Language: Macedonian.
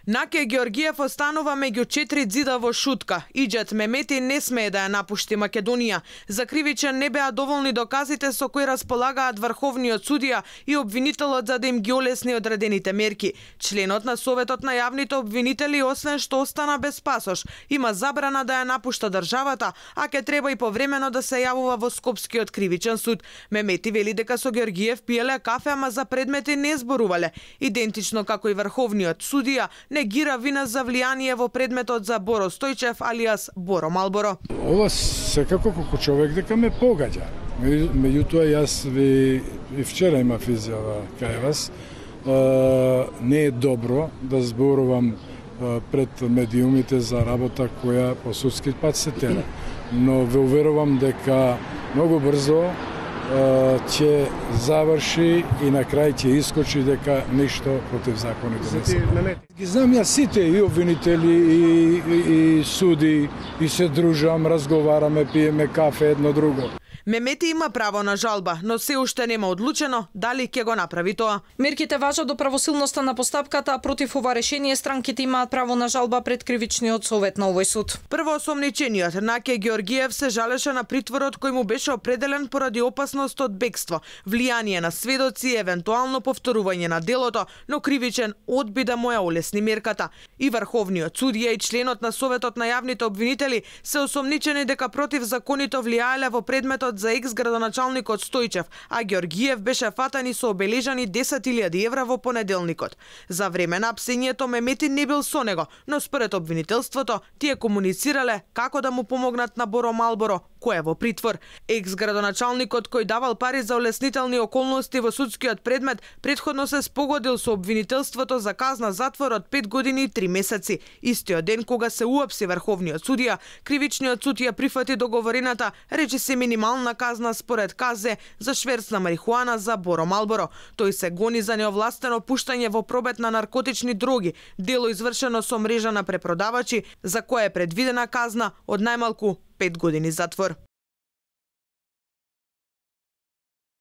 Наке Георгиев останува меѓу 4 ѕида во Шутка. Иџет Мемети не смее да ја напушти Македонија. За кривичен не беа доволни доказите со кои располагаат врховниот судија и обвинителот за да им ги олесни одредените мерки. Членот на Советот на јавните обвинители, освен што остана без пасош, има забрана да ја напушта државата, а ке треба и повремено да се јавува во Скопскиот кривичен суд. Мемети вели дека со Георгиев пиеле кафе, ама за предмети не зборувале. Идентично како и врховниот судија, негира вина за влијание во предметот за Боро Стојчев алиас Боро Малборо. Ова секако како човек дека ме погаѓа. Меѓутоа јас ви вчера имав изјава кај вас. Не е добро да зборувам пред медиумите за работа која по судски пат се тера. Но ве уверувам дека многу брзо ќе заврши и на крај ќе искочи дека ништо против законите не се. Ги знам јас сите и обвинители и суди и се дружам, разговараме, пиеме кафе едно друго. Мемети има право на жалба, но се уште нема одлучено дали ќе го направи тоа. Мерките важат до правосилноста на постапката, а против ова решение странките имаат право на жалба пред кривичниот совет на овој суд. Првоосомничениот Наке Георгиев се жалеше на притворот кој му беше определен поради опасност од бегство, влијание на сведоци и евентуално повторување на делото, но кривичен одби да му ја олесни мерката. И врховниот судија и членот на Советот на јавните обвинители се осомничени дека против законито влијаеле во предметот за екс-градоначалникот Стојчев, а Георгиев беше фатан и со обележани 10.000 евра во понеделникот. За време на апсењето Мемети не бил со него, но според обвинителството тие комуницирале како да му помогнат на Боро Малборо, кој е во притвор. Екс-градоначалникот кој давал пари за олеснителни околности во судскиот предмет претходно се спогодил со обвинителството за казна затвор од 5 години и 3 месеци. Истиот ден кога се уапси врховниот судија, кривичниот суд ја прифати договорената, речи се минимална казна според КЗ за шверц на марихуана за Боро Малборо. Тој се гони за неовластено пуштање во пробет на наркотични дроги, дело извршено со мрежа на препродавачи, за кое е предвидена казна од најмалку 5 години затвор.